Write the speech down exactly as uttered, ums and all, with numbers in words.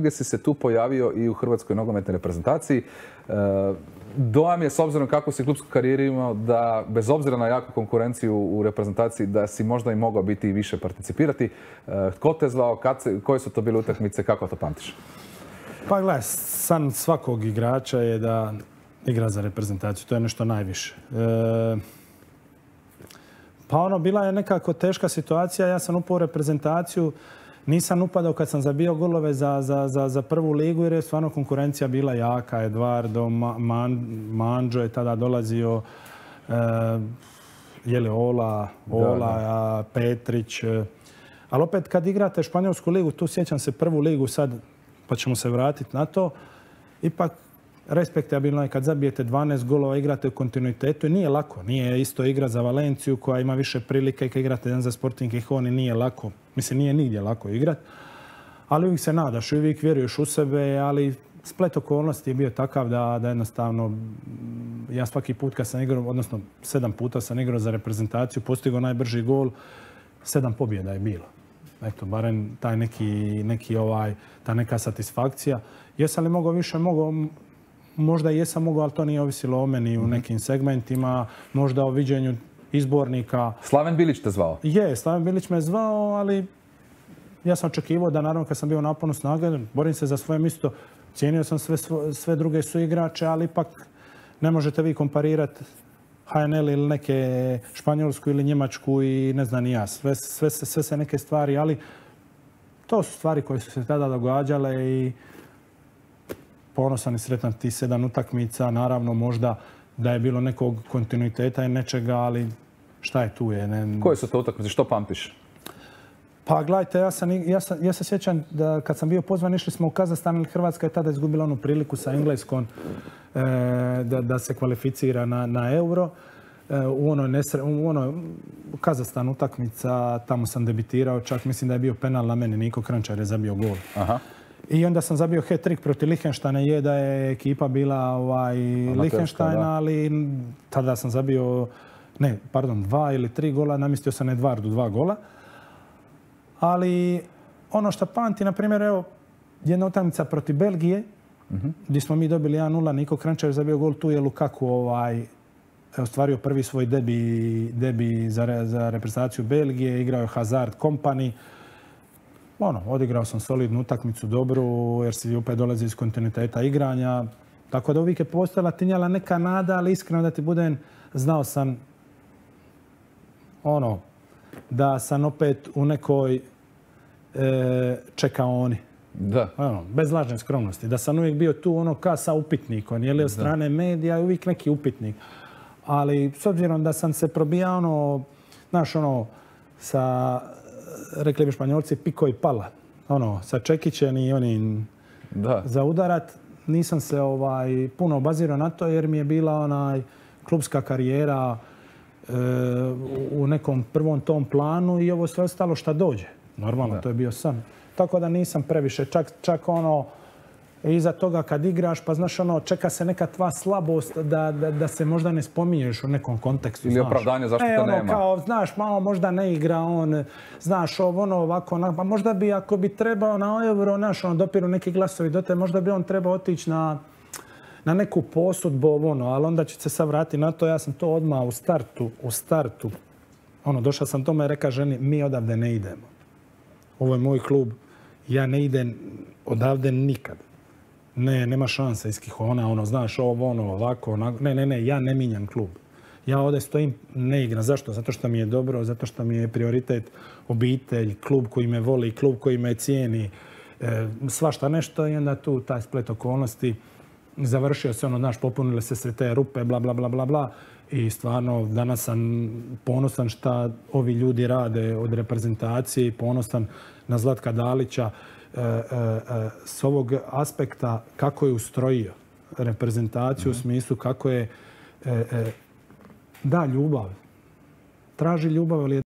gdje si se tu pojavio i u hrvatskoj nogometnoj reprezentaciji. Dojam je, s obzirom kako si klupsku karijeru imao, da bez obzira na jaku konkurenciju u reprezentaciji, da si možda i mogao biti i više participirati. Tko te zvao, kad se, koje su to bile utakmice, kako to pamtiš? Pa gledaj, san svakog igrača je da igra za reprezentaciju. To je nešto najviše. E, pa ono, bila je nekako teška situacija. Ja sam upao u reprezentaciju. Nisam upadao kad sam zabio golove za, za, za, za prvu ligu jer je stvarno konkurencija bila jaka. Eduardo, Man, Manđo je tada dolazio, e, je li Ola, Ola, da, da. Petrić. E, ali opet kad igrate španjolsku ligu, tu sjećam se prvu ligu sad, pa ćemo se vratiti na to, ipak respektabilno je kad zabijete dvanaest golova, igrate u kontinuitetu i nije lako. Nije isto igra za Valenciju koja ima više prilike i kad igrate jedan za Sporting Gijón i nije lako. Mislim, nije nigdje lako igrati. Ali uvijek se nadaš, uvijek vjeruješ u sebe, ali splet okolnosti je bio takav da, da jednostavno ja svaki put kad sam igrao, odnosno sedam puta sam igrao za reprezentaciju, postigao najbrži gol, sedam pobjeda je bilo. Eto, barem taj neki, neki ovaj, ta neka satisfakcija. Jesam li mogao više? Mogao. Možda jesam mogao, ali to nije ovisilo o meni u nekim segmentima. Možda o viđenju izbornika. Slaven Bilić te zvao? Je, Slaven Bilić me zvao, ali ja sam očekivao da naravno kad sam bio u naponu snage, borim se za svoje mjesto. Cijenio sam sve, sve druge suigrače, ali ipak ne možete vi komparirati H N L ili neke Španjolsku ili Njemačku i ne znam ni ja. Sve, sve, sve se neke stvari, ali to su stvari koje su se tada događale i ponosan i sretan ti sedam utakmica. Naravno, možda da je bilo nekog kontinuiteta i nečega, ali šta je tu je? Ne... Koje su to utakmice? Što pamtiš? Pa gledajte, ja, sam, ja, sam, ja se sjećam da kad sam bio pozvan, išli smo u Kazahstan ili Hrvatska je tada izgubila onu priliku sa Engleskom e, da, da se kvalificira na, na Euro. E, u onoj nesre, u onoj Kazahstan utakmica, tamo sam debitirao, čak mislim da je bio penal na meni, Niko Kranjčar je zabio gol. Aha. I onda sam zabio hat-trick protiv Lichtensteina, je da je ekipa bila ovaj, Lichtensteina, ali tada sam zabio, ne, pardon, dva ili tri gola, namjestio sam Edvardu dva gola. Ali ono što pamti, na primjer, evo, jedna utakmica protiv Belgije, uh-huh. gdje smo mi dobili jedan nula, Niko Kranjčar je zabio gol, tu je Lukaku ovaj, ostvario prvi svoj debi, debi za, za reprezentaciju Belgije, igrao je Hazard Company. Ono, odigrao sam solidnu utakmicu dobru, jer si opet dolazi iz kontinuiteta igranja. Tako da uvijek je postojala, tinjala neka nada, ali iskreno da ti budem, znao sam ono, da sam opet u nekoj e, čekaoni. Da. Ono, bez lažne skromnosti. Da sam uvijek bio tu ono ka sa upitnikom, je li od strane medija uvijek neki upitnik. Ali s obzirom da sam se probijao ono, znaš ono, sa, rekli bi Španjolci, piko i pala. Ono, sa čekićem i onim da. Za udarat. Nisam se ovaj, puno obazirao na to jer mi je bila onaj klubska karijera e, u nekom prvom tom planu i ovo sve ostalo šta dođe. Normalno, da. To je bio san. Tako da nisam previše, čak, čak ono, iza toga kad igraš, pa znaš ono, čeka se neka tva slabost da, da, da se možda ne spominješ u nekom kontekstu. Ili znaš. Opravdanje zašto e, to ono, nema. Kao, znaš, malo možda ne igra on, znaš, ono ovako, ono, pa možda bi, ako bi trebao na Euro, znaš, ono, dopiru neki glasovi do te, možda bi on trebao otići na, na neku posudbu, ono, ali onda će se sad vratiti na to, ja sam to odmah u startu, u startu, ono, došao sam tome i reka ženi, mi odavde ne idemo. Ovo je moj klub, ja ne idem odavde nikad. Ne, nema šanse iz Gijona, ono, znaš, ovo, ono, ovako, onako. Ne, ne, ne, ja ne minjam klub. Ja ovdje stojim, ne igram. Zašto? Zato što mi je dobro, zato što mi je prioritet obitelj, klub koji me voli, klub koji me cijeni, e, svašta nešto i onda tu taj splet okolnosti. Završio se ono, znaš, popunile se sve te rupe, bla, bla, bla, bla, bla. I stvarno, danas sam ponosan šta ovi ljudi rade od reprezentacije, ponosan na Zlatka Dalića. E, e, e, s ovog aspekta kako je ustrojio reprezentaciju, mm-hmm. u smislu kako je e, e, da ljubav. Traži ljubav, ali je